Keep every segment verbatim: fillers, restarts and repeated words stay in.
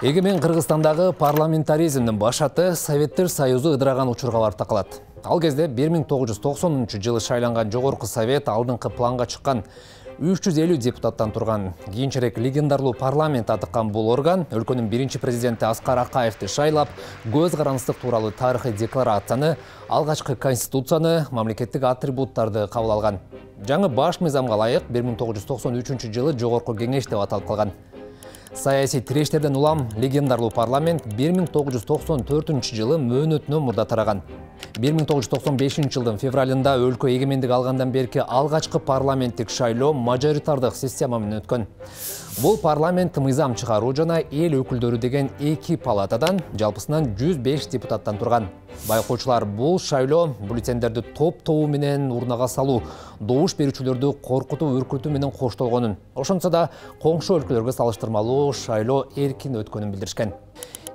Эгемен Кыргызстандагы парламентаризмдин башаты Советтер Союзу ыдыраган учурга барып такалат. Ал кезде бир миң тогуз жүз токсонунчу жылы шайланган Жогорку Совет алдыңкы планга чыккан үч жүз элүү депутаттан турган кийинчерээк легендарлуу парламент атыккан бул орган өлкөнүн биринчи президенти Аскар Акаевди шайлап, көз карандык тууралуу тарыхый декларацияны, алгачкы конституцияны, мамлекеттик атрибуттарды кабыл алган. Жаңы баш мыйзамга ылайык бир миң тогуз жүз токсон үчүнчү жылы Жогорку Кеңеш деп аталып калган. Саясий тирештерден улам легендарлуу парламент бир миң тогуз жүз токсон төртүнчү жылы мөөнөтүнөн мурда тараган. бир миң тогуз жүз токсон бешинчи жылдын февралында өлкө эгемендик алгандан берки алгачкы парламенттик шайлоо мажоритардык система менен өткөн. Бул парламент мыйзам чыгаруу жана эл өкүлдөрү деген эки палатадан, жалпысынан жүз беш депутаттан турган. Байкоочулар бул шайлоо бюллетендерди топ-тобу менен урнага салуу, добуш берүүчүлөрдү коркутуу, үркүтүү менен коштолгонун, ошончо да коңшу өлкөлөргө салыштырмалуу шайлоо эркин өткөнүн билдиришкен.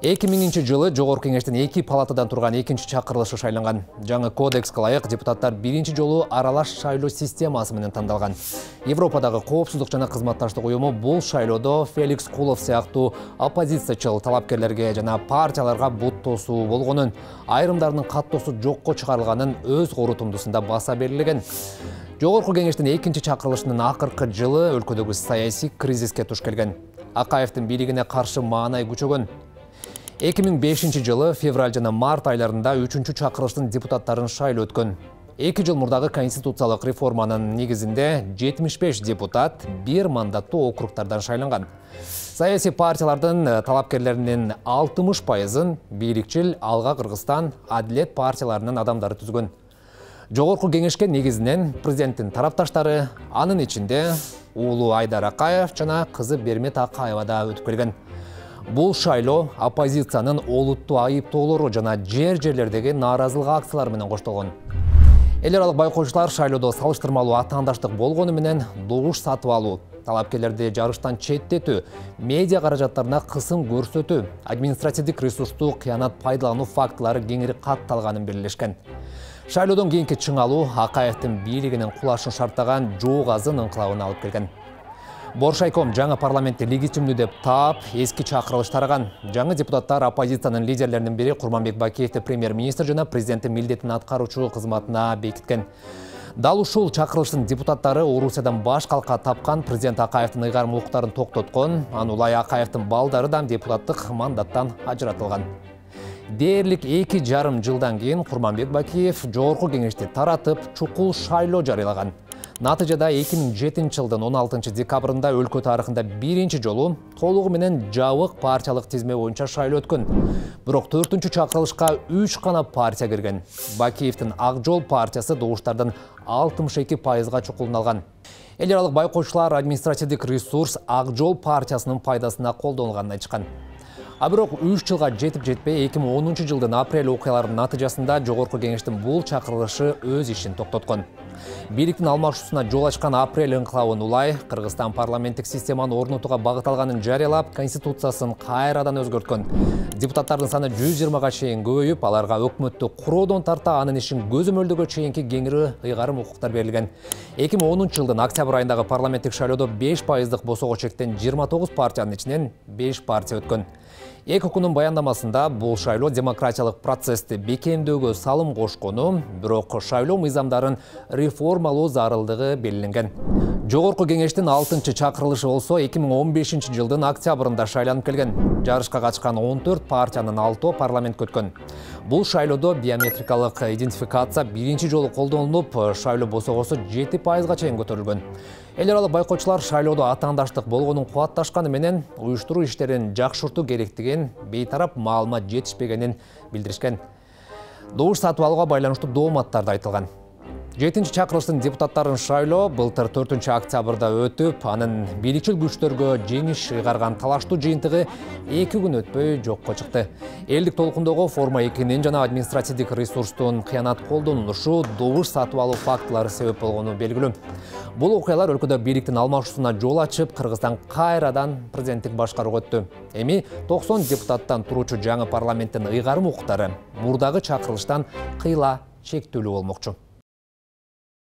эки миңинчи жылы Жогорку Кеңештин эки палатадан турган экинчи чакырылышы шайланган. Жаңы кодекске ылайык депутаттар биринчи жолу аралаш шайлоо системасы менен тандалган. Европадагы коопсуздук жана кызматташтык уюму бул шайлоодо Феликс Кулов сыяктуу оппозициячыл талапкерлерге жана партияларга бут тосуу болгонун, айрымдарынын каттоосу жокко чыгарылганын өз корутундусунда баса белгилеген. Жогорку Кеңештин экинчи чакырылышынын акыркы жылы өлкөдөгү саясий кризиске туш келген. Акаевдин бийлигине каршы маанай күчөгөн. эки миң бешинчи жылы февраль жана март айларында үчүнчү чакырылыштын депутаттарын шайлоо өткөн. эки жыл мурдагы конституциялык реформанын негизинде жетимиш беш депутат бир мандаттуу округтардан шайланган. Саясий партиялардын талапкерлеринин алтымыш пайызын бийликчил Алга Кыргызстан, Адилет партияларынын адамдары түзгөн. Жогорку Кеңешке негизинен президенттин тарапташтары, анын ичинде уулу Айдар Акаев жана кызы Бермет Акаева да өтүп келген. Бул шайлоо оппозициянын олуттуу айыптоолору жана жер-жерлердеги нааразылык акциялары менен коштолгон. Эл аралык байкоочулар шайлоодо салыштырмалуу атаандаштык болгону менен добуш сатып алуу, талапкерлерди жарыштан четтетүү, медиа каражаттарына кысым көрсөтүү, административдик ресурсту кыянат пайдалануу фактылары кеңири катталганын белгилешкен. Шайлоодон кийинки чыңалуу Акаевдин бийлигинин кулашын шарттаган жоо газын ыңкылабына алып келген. Боршайком жаңы парламентти легитимдүү деп таап, эски чакырылыш тараган. Жаңы депутаттар оппозициянын лидерлеринин бири Курманбек Бакиевди премьер-министр жана президенттин милдетин аткаруучу кызматына бекиткен. Дал ушул чакырылыштын депутаттары Орусиядан баш калка тапкан президент Акаевдин ыйгарым укуктарын токтоткон, аны улай Акаевдин балдары да депутаттык мандаттан ажыратылган. Дээрлик эки жарым жылдан кийин Курманбек Бакиев Жогорку Кеңешти таратып, чукул шайлоо жарыялаган. Натыйжада эки миң жетинчи жылдын он алтынчы декабрында өлкө тарыхында биринчи жолу толугу менен жабык партиялык тизме боюнча шайлоо өткөн. Бирок төртүнчү чакырылышка үч гана партия кирген. Бакиевдин Ак Жол партиясы добуштардын алтымыш эки пайызга чукулун алган. Эл аралык байкоочулар административдик ресурс Ак Жол партиясынын пайдасына колдонулганын айтышкан. А бирок үч жылга жетип жетпей эки миң онунчу жылдын апрель окуяларынын натыйжасында Жогорку Кеңештин бул чакырылышы өз ишин токтоткон. Бийликтин алмашуусуна жол ачкан апрель ыңкылабын улай Кыргызстан парламенттик системаны орнотууга багытталганын жарыялап, конституциясын кайрадан өзгөрткөн. Депутаттардын саны жүз жыйырмага чейин көбөйүп, аларга өкмөттү куроодон тарта анын ишин көзөмөлдөгө чейинки кеңири ыйгарым укуктар берилген. эки миң онунчу жылдын октябрь айындагы парламенттик шайлоодо беш пайыздык босого чектен жыйырма тогуз партиянын ичинен беш партия өткөн. Эки укунун баяндамасында бул шайлоо демократиялык процессти бекемдөөгө салым кошкону, бирок шайлоо мыйзамдарын реформалоо зарылдыгы белгиленген. Жогорку Кеңештин алтынчы чакырылышы болсо эки миң он бешинчи жылдын октябрында шайланып келген. Жарышка катышкан он төрт партиянын алтоо парламентке өткөн. Бул шайлоодо биометрикалык идентификация биринчи жолу колдонулуп, шайлоо босогосу жети пайызга чейин көтөрүлгөн. Эл аралык байкоочулар шайлоодо атаандаштык болгонун кубатташканы менен уюштуруу иштерин жакшыртуу керектигин, бейтарап маалымат жетишпегенин билдиришкен. Добуш сатып алууга байланыштуу дооматтар да айтылган. жетинчи чакырылыштын депутаттарын шайлоо былтыр төртүнчү октябрда өтүп, анын бийликчил күчтөргө жеңиш ыйгарган талаштуу жыйынтыгы эки күн өтпөй жокко чыкты. Элдик толкундогу форма экинин жана административдик ресурстун кыянат колдонулушу, добуш сатып алуу фактылары себеп болгону белгилүү. Бул окуялар өлкөдө бийликтин алмашуусуна жол ачып, Кыргызстан кайрадан президенттик башкарууга өттү. Эми токсон депутаттан туруучу жаңы парламенттин ыйгарым укуктары мурдагы чакырылыштан кыйла чектелүү болмокчу.